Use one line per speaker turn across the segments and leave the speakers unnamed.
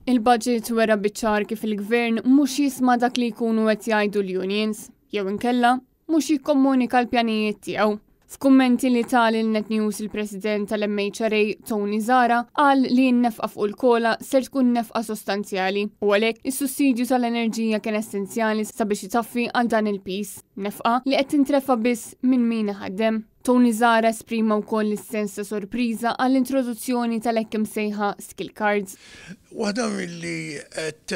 Il-budget wera biċ-ċar kif il-gvern mhux jisma' dak li jkunu qed jgħidu l-unions, jew inkella mhux jikkomunika l-pjanijiet tiegħu. F'kummenti li ta lil Net News il-President tal-MHRA Tony Zahra qal li n-nefqa fuq il-COLA ser tkun nefqa sostanzjali u għalhekk is-sussidju tal-enerġija kien essenzjali sabiex itaffi għal dan il-piż, nefqa li qed tintrefa' biss minn min iħaddem. Tony Zahra esprima wkoll is-sens ta' sorpriża għall-introduzzjoni tal-hekk imsejħa skill cards.
Waħda milli qed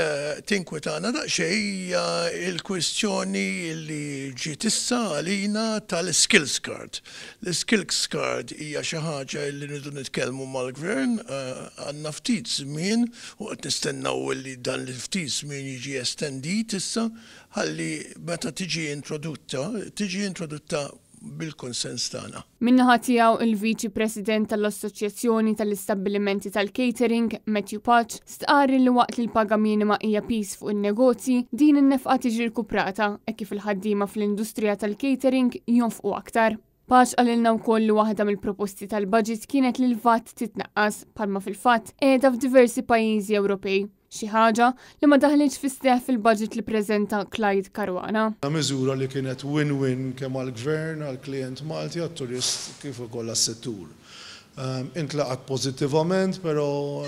tinkwetana daqsxejn hija l-kwistjoni li ġiet issa għalina tal-skills card. L-skills card hija xi ħaġa li rridu nitkellmu mal-Gvern, għandna ftit żmien u qed nistennew li dan il-ftit żmien jiġi estendit issa ħalli meta tiġi introdotta, tiġi introdotta bil-kunsens tagħna.
Min-naħa tiegħu il-Viċi President tal-Assoċjazzjoni tal-Istabbilimenti tal-Catering, Matthew Pace, stqarr li waqt li l-paga minima hija piż fuq in-negozji, din in-nefqa tiġi rkuprata hekk kif il-ħaddiema fl-industrija tal-catering jonfqu aktar. Pace qalilna wkoll li waħda mill-proposti tal-budget kienet li l-VAT titnaqqas bħalma fil-fatt qiegħda f'diversi pajjiżi Ewropej. Xi ħaġa li ma daħlitx fis-seħħ fil-budget li preżenta Clyde Caruana.
Miżura li kienet win-win kemm għall-gvern, għall-klient Malti, għat-turist kif ukoll għas-settur. Intlaqat pożittivament, però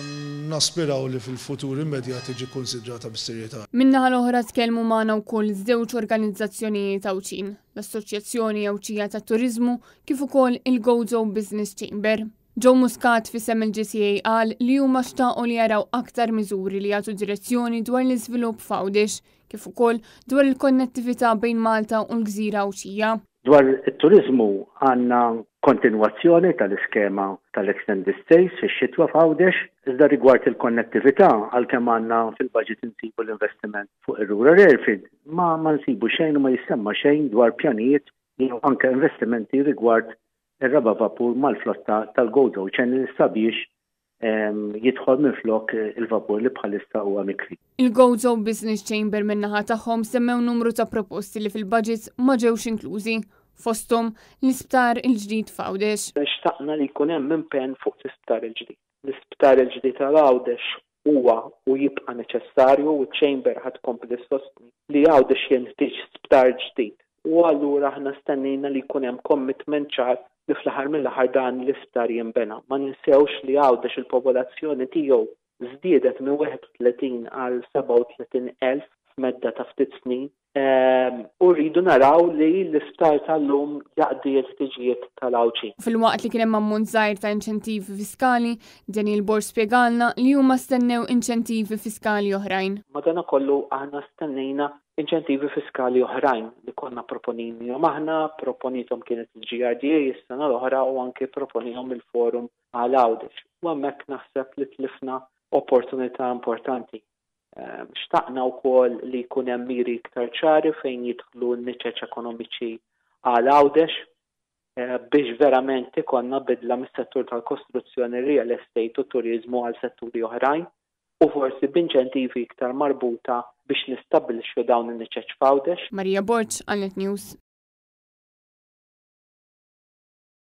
naspiraw li fil-futur immedjat tiġi konsidrata bis-serjetà.
Min-naħa l-oħra tkellmu magħna wkoll żewġ organizzazzjonijiet Għawdxin, l-Assoċjazzjoni Għawdxija tat-Turiżmu kif ukoll il-Gozo Business Chamber. Joe Muscat f'isem il-GTA qal li huma xtaqu li jaraw aktar miżuri li jagħtu direzzjoni dwar l-iżvilupp f'Għawdex, kif ukoll dwar il-konnettività bejn Malta u l-Gżira Għawdxija.
Dwar it-turiżmu għandna kontinwazzjoni tal-iskema tal-extended stays fix-xitwa f'Għawdex, iżda rigward il-konnettività għalkemm għandna fil-budget insibu l-investiment fuq ir-rural airfield, ma ma nsibu xejn u ma jissemma xejn dwar pjanijiet jew anke investimenti rigward ir-raba' vapur mal-flotta tal-Gozo Channel sabiex jidħol minflok il-vapur li bħalissa huwa mikri.
Il-Gozo Business Chamber min-naħa tagħhom semmew numru ta' proposti li fil-budget ma ġewx inklużi, fosthom l-isptar il-ġdid f'Għawdex.
Xtaqna li jkun hemm impenn fuq l-isptar il-ġdid. L-isptar il-ġdid għal Għawdex huwa u jibqa' neċessarju u ċ-Chamber ħa tkompli ssostni li Għawdex jenħtieġ sptar ġdid u allura aħna stennejna li jkun hemm commitment ċar li fl-aħħar mill-aħħar dan l-isptar jinbena. Ma ninsewx li Għawdex il-popolazzjoni tiegħu żdiedet minn 31 għal 37,000 f'medda ta' ftit snin u rridu naraw li l-isptar tal-lum jaqdi l-ħtiġijiet tal-Għawdxin.
Filwaqt li kien hemm ammont żgħir ta' inċentivi fiskali, Daniel Borg spjegalna li huma stennew inċentivi fiskali oħrajn.
Madanakollu aħna stennejna inċentivi fiskali oħrajn li konna proponejnihom aħna, proponithom kienet il-GRDA is-sena l-oħra u anke proponihom il-Forum għal Għawdex. U hemmhekk naħseb li tlifna opportunità importanti. Xtaqna wkoll li jkun hemm miri iktar ċari fejn jidħlu n-niċeċ ekonomiċi għal Għawdex biex verament ikollna bidla mis-settur tal-kostruzzjoni, real estate u turiżmu għal setturi oħrajn u forsi b'inċentivi iktar marbuta biex nistabbilixxu dawn in-niċeċ f'Għawdex.
Maria Borg, għal Net News.